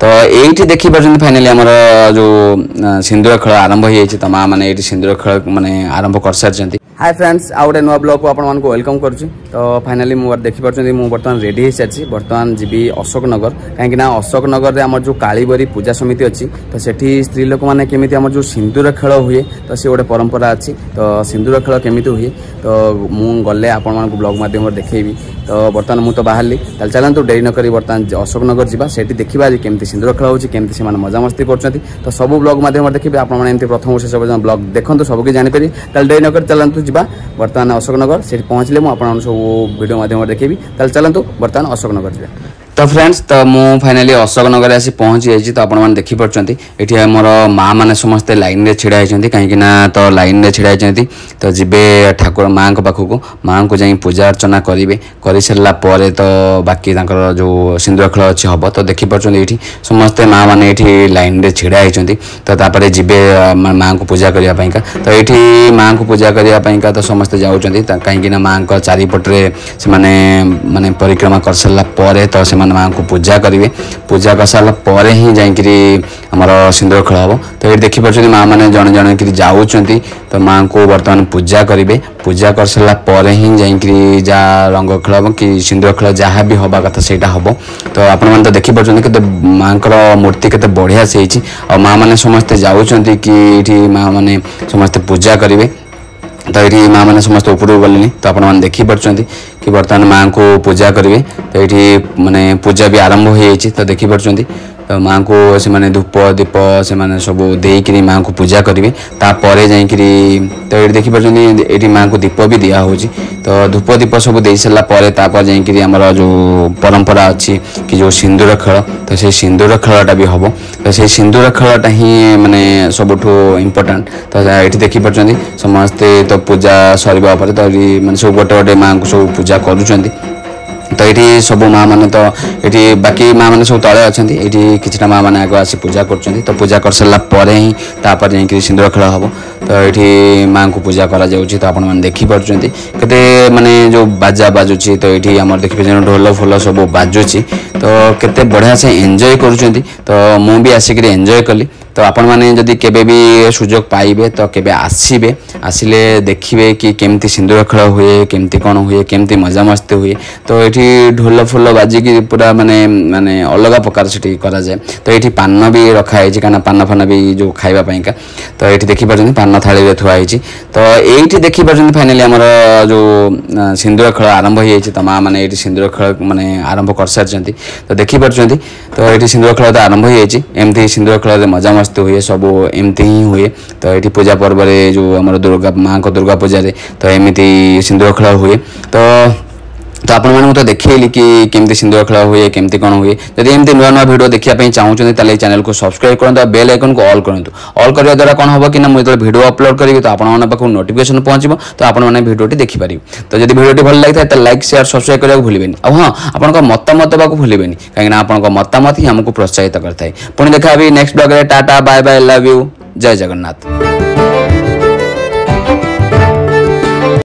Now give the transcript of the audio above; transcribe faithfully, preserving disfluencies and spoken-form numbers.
ତ ଏଇଠି ଦେଖିପାରୁଛନ୍ତି ଫାଇନାଲି ଆମର ଯେଉଁ ସିନ୍ଦୁର ଖେଳ ଆରମ୍ଭ ହେଇଯାଇଛି। ତ ମା ମାନେ ଏଇଠି ସିନ୍ଦୁର ଖେଳ ମାନେ ଆରମ୍ଭ କରିସାରିଛନ୍ତି। ହାଏ ଫ୍ରେଣ୍ଡସ୍, ଆଉ ଗୋଟେ ନୂଆ ବ୍ଲଗ୍କୁ ଆପଣମାନଙ୍କୁ welcome କରୁଛି। ତ ଫାଇନାଲି ମୁଁ ଦେଖିପାରୁଛନ୍ତି, ମୁଁ ବର୍ତ୍ତମାନ ରେଡ଼ି ହେଇସାରିଛି। ବର୍ତ୍ତମାନ ଯିବି ଅଶୋକନଗର, କାହିଁକିନା ଅଶୋକନଗରରେ ଆମର ଯେଉଁ କାଳିବରୀ ପୂଜା ସମିତି ଅଛି, ତ ସେଠି ସ୍ତ୍ରୀ ଲୋକମାନେ କେମିତି ଆମର ଯେଉଁ ସିନ୍ଦୁର ଖେଳ ହୁଏ, ତ ସେ ଗୋଟେ ପରମ୍ପରା ଅଛି। ତ ସିନ୍ଦୁର ଖେଳ କେମିତି ହୁଏ, ତ ମୁଁ ଗଲେ ଆପଣମାନଙ୍କୁ ବ୍ଲଗ୍ ମାଧ୍ୟମରେ ଦେଖେଇବି। ତ ବର୍ତ୍ତମାନ ମୁଁ ତ ବାହାରିଲି, ତାହେଲେ ଚାଲନ୍ତୁ ଡେରି ନ କରି ବର୍ତ୍ତମାନ ଅଶୋକନଗର ଯିବା। ସେଠି ଦେଖିବା ଯେ କେମିତି ସିନ୍ଦୁର ଖେଳ ହେଉଛି, କେମିତି ସେମାନେ ମଜାମସ୍ତି କରୁଛନ୍ତି। ତ ସବୁ ବ୍ଲଗ୍ ମାଧ୍ୟମରେ ଦେଖିବେ ଆପଣମାନେ। ଏମିତି ପ୍ରଥମ ଶେଷ ପର୍ଯ୍ୟନ୍ତ ବ୍ଲଗ୍ ଦେଖନ୍ତୁ, ସବୁ କିଛି ଜାଣିପାରିବେ। ତାହେଲେ ଡେରି ନ କରି ଚାଲନ୍ତୁ ଯିବା ବର୍ତ୍ତମାନ ଅଶୋକନଗର। ସେଠି ପହଞ୍ଚିଲେ ମୁଁ ଆପଣମାନଙ୍କୁ ସବୁ ଭିଡ଼ିଓ ମାଧ୍ୟମରେ ଦେଖେଇବି। ତାହେଲେ ଚାଲନ୍ତୁ ବର୍ତ୍ତମାନ ଅଶୋକନଗର ଯିବା। ତ ଫ୍ରେଣ୍ଡସ୍, ତ ମୁଁ ଫାଇନାଲି ଅଶୋକନଗରରେ ଆସି ପହଞ୍ଚି ଯାଇଛି। ତ ଆପଣମାନେ ଦେଖିପାରୁଛନ୍ତି, ଏଠି ଆମର ମା ମାନେ ସମସ୍ତେ ଲାଇନ୍ରେ ଛିଡ଼ା ହେଇଛନ୍ତି, କାହିଁକିନା ତ ଲାଇନ୍ରେ ଛିଡ଼ା ହେଇଛନ୍ତି, ତ ଯିବେ ଠାକୁର ମାଆଙ୍କ ପାଖକୁ, ମାଆଙ୍କୁ ଯାଇ ପୂଜା ଅର୍ଚ୍ଚନା କରିବେ। କରିସାରିଲା ପରେ ତ ବାକି ତାଙ୍କର ଯେଉଁ ସିନ୍ଦୁର ଖେଳ ଅଛି ହେବ। ତ ଦେଖିପାରୁଛନ୍ତି, ଏଇଠି ସମସ୍ତେ ମା ମାନେ ଏଇଠି ଲାଇନ୍ରେ ଛିଡ଼ା ହେଇଛନ୍ତି। ତ ତାପରେ ଯିବେ ମାଆଙ୍କୁ ପୂଜା କରିବା ପାଇଁକା। ତ ଏଇଠି ମାଆଙ୍କୁ ପୂଜା କରିବା ପାଇଁକା ତ ସମସ୍ତେ ଯାଉଛନ୍ତି, କାହିଁକିନା ମାଆଙ୍କ ଚାରିପଟରେ ସେମାନେ ମାନେ ପରିକ୍ରମା କରିସାରିଲା ପରେ ତ ସେମାନେ ମାଆଙ୍କୁ ପୂଜା କରିବେ। ପୂଜା କରିସାରିଲା ପରେ ହିଁ ଯାଇକିରି ଆମର ସିନ୍ଦୁର ଖେଳ ହେବ। ତ ଏଇଠି ଦେଖିପାରୁଛନ୍ତି, ମା ମାନେ ଜଣେ ଜଣେ କିରି ଯାଉଛନ୍ତି, ତ ମାଆଙ୍କୁ ବର୍ତ୍ତମାନ ପୂଜା କରିବେ। ପୂଜା କରିସାରିଲା ପରେ ହିଁ ଯାଇକିରି ଯାହା ରଙ୍ଗ ଖେଳ ହେବ କି ସିନ୍ଦୁର ଖେଳ ଯାହା ବି ହେବା କଥା ସେଇଟା ହେବ। ତ ଆପଣମାନେ ତ ଦେଖିପାରୁଛନ୍ତି, କେତେ ମାଆଙ୍କର ମୂର୍ତ୍ତି କେତେ ବଢ଼ିଆ ସେ ହେଇଛି। ଆଉ ମା ମାନେ ସମସ୍ତେ ଯାଉଛନ୍ତି କି ଏଇଠି ମା ମାନେ ସମସ୍ତେ ପୂଜା କରିବେ। ତ ଏଇଠି ମା ମାନେ ସମସ୍ତେ ଉପରକୁ ଗଲେଣି। ତ ଆପଣମାନେ ଦେଖିପାରୁଛନ୍ତି କି ବର୍ତ୍ତମାନ ମାଆଙ୍କୁ ପୂଜା କରିବେ। ତ ଏଇଠି ମାନେ ପୂଜା ବି ଆରମ୍ଭ ହେଇଯାଇଛି। ତ ଦେଖିପାରୁଛନ୍ତି, ତ ମାଆଙ୍କୁ ସେମାନେ ଧୂପ ଦୀପ ସେମାନେ ସବୁ ଦେଇକିରି ମାଆଙ୍କୁ ପୂଜା କରିବେ, ତାପରେ ଯାଇକିରି। ତ ଏଇଠି ଦେଖିପାରୁଛନ୍ତି, ଏଇଠି ମାଆଙ୍କୁ ଦୀପ ବି ଦିଆହେଉଛି। ତ ଧୂପ ଦୀପ ସବୁ ଦେଇ ସାରିଲା ପରେ ତାପରେ ଯାଇକିରି ଆମର ଯେଉଁ ପରମ୍ପରା ଅଛି କି ଯେଉଁ ସିନ୍ଦୁର ଖେଳ, ତ ସେଇ ସିନ୍ଦୁର ଖେଳଟା ବି ହେବ। ତ ସେଇ ସିନ୍ଦୁର ଖେଳଟା ହିଁ ମାନେ ସବୁଠୁ ଇମ୍ପୋର୍ଟାଣ୍ଟ। ତ ଏଇଠି ଦେଖିପାରୁଛନ୍ତି ସମସ୍ତେ, ତ ପୂଜା ସରିବା ପରେ ତ ଏଠି ମାନେ ସବୁ ଗୋଟେ ଗୋଟେ ମାଆଙ୍କୁ ସବୁ ପୂଜା କରୁଛନ୍ତି। ତ ଏଇଠି ସବୁ ମା ମାନେ, ତ ଏଠି ବାକି ମା ମାନେ ସବୁ ତଳେ ଅଛନ୍ତି। ଏଇଠି କିଛିଟା ମା ମାନେ ଆଗ ଆସି ପୂଜା କରୁଛନ୍ତି। ତ ପୂଜା କରିସାରିଲା ପରେ ହିଁ ତାପରେ ଯାଇକିରି ସିନ୍ଦୁର ଖେଳ ହେବ। ତ ଏଇଠି ମାଆଙ୍କୁ ପୂଜା କରାଯାଉଛି। ତ ଆପଣମାନେ ଦେଖିପାରୁଛନ୍ତି କେତେ ମାନେ ଯେଉଁ ବାଜା ବାଜୁଛି। ତ ଏଇଠି ଆମର ଦେଖିପାରୁଛନ୍ତି, ଢୋଲ ଫୋଲ ସବୁ ବାଜୁଛି। ତ କେତେ ବଢ଼ିଆ ସେ ଏନ୍ଜୟ କରୁଛନ୍ତି। ତ ମୁଁ ବି ଆସିକିରି ଏନ୍ଜୟ କଲି। ତ ଆପଣମାନେ ଯଦି କେବେ ବି ସୁଯୋଗ ପାଇବେ, ତ କେବେ ଆସିବେ, ଆସିଲେ ଦେଖିବେ କି କେମିତି ସିନ୍ଦୁର ଖେଳ ହୁଏ, କେମିତି କ'ଣ ହୁଏ, କେମିତି ମଜାମସ୍ତି ହୁଏ। ତ ଏଇଠି ଢୋଲ ଫୋଲ ବାଜିକି ପୁରା ମାନେ ମାନେ ଅଲଗା ପ୍ରକାର ସେଠି କରାଯାଏ। ତ ଏଇଠି ପାନ ବି ରଖା ହେଇଛି, କାହିଁକିନା ପାନ ଫାନ ବି ଯେଉଁ ଖାଇବା ପାଇଁକା। ତ ଏଇଠି ଦେଖିପାରୁଛନ୍ତି, ପାନ ଥାଳିରେ ଥୁଆ ହେଇଛି। ତ ଏଇଠି ଦେଖିପାରୁଛନ୍ତି, ଫାଇନାଲି ଆମର ଯେଉଁ ସିନ୍ଦୁର ଖେଳ ଆରମ୍ଭ ହେଇଯାଇଛି। ତ ମା ମାନେ ଏଇଠି ସିନ୍ଦୁର ଖେଳ ମାନେ ଆରମ୍ଭ କରିସାରିଛନ୍ତି। ତ ଦେଖିପାରୁଛନ୍ତି, ତ ଏଇଠି ସିନ୍ଦୁର ଖେଳ ତ ଆରମ୍ଭ ହେଇଯାଇଛି। ଏମିତି ସିନ୍ଦୁର ଖେଳରେ ମଜାମସ୍ତି ହୁଏ, ସବୁ ଏମିତି ହିଁ ହୁଏ। ତ ଏଇଠି ପୂଜା ପର୍ବରେ ଯେଉଁ ଆମର ଦୁର୍ଗା ମାଆଙ୍କ ଦୁର୍ଗା ପୂଜାରେ ତ ଏମିତି ସିନ୍ଦୁର ଖେଳ ହୁଏ। ତ ତ ଆପଣମାନଙ୍କୁ ତ ଦେଖେଇଲି କି କେମିତି ସିନ୍ଦୁର ଖେଳ ହୁଏ, କେମିତି କ'ଣ ହୁଏ। ଯଦି ଏମିତି ନୂଆ ନୂଆ ଭିଡ଼ିଓ ଦେଖିବା ପାଇଁ ଚାହୁଁଛନ୍ତି, ତାହେଲେ ଏଇ ଚ୍ୟାନେଲକୁ ସବସ୍କ୍ରାଇବ୍ କରନ୍ତୁ ଆଉ ବେଲ୍ ଆଇକନ୍କୁ ଅଲ୍ କରନ୍ତୁ। ଅଲ୍ କରିବା ଦ୍ୱାରା କ'ଣ ହେବ କି ନା, ମୁଁ ଯେତେବେଳେ ଭିଡ଼ିଓ ଅପଲୋଡ଼ କରିବି, ତ ଆପଣମାନଙ୍କ ପାଖକୁ ନୋଟିଫିକେସନ୍ ପହଞ୍ଚିବ, ତ ଆପଣମାନେ ଭିଡ଼ିଓଟି ଦେଖିପାରିବେ। ତ ଯଦି ଭିଡ଼ିଓଟି ଭଲ ଲାଗିଥାଏ, ତାହେଲେ ଲାଇକ୍, ସେୟାର, ସବସ୍କ୍ରାଇବ୍ କରିବାକୁ ଭୁଲିବେନି। ଆଉ ହଁ, ଆପଣଙ୍କ ମତାମତ ଦେବାକୁ ଭୁଲିବେନି, କାହିଁକିନା ଆପଣଙ୍କ ମତାମତ ହିଁ ଆମକୁ ପ୍ରୋତ୍ସାହିତ କରିଥାଏ। ପୁଣି ଦେଖା ହେବି ନେକ୍ସଟ ବ୍ଲଗ୍ରେ। Tata, bye bye, love you, Jay Jagannath.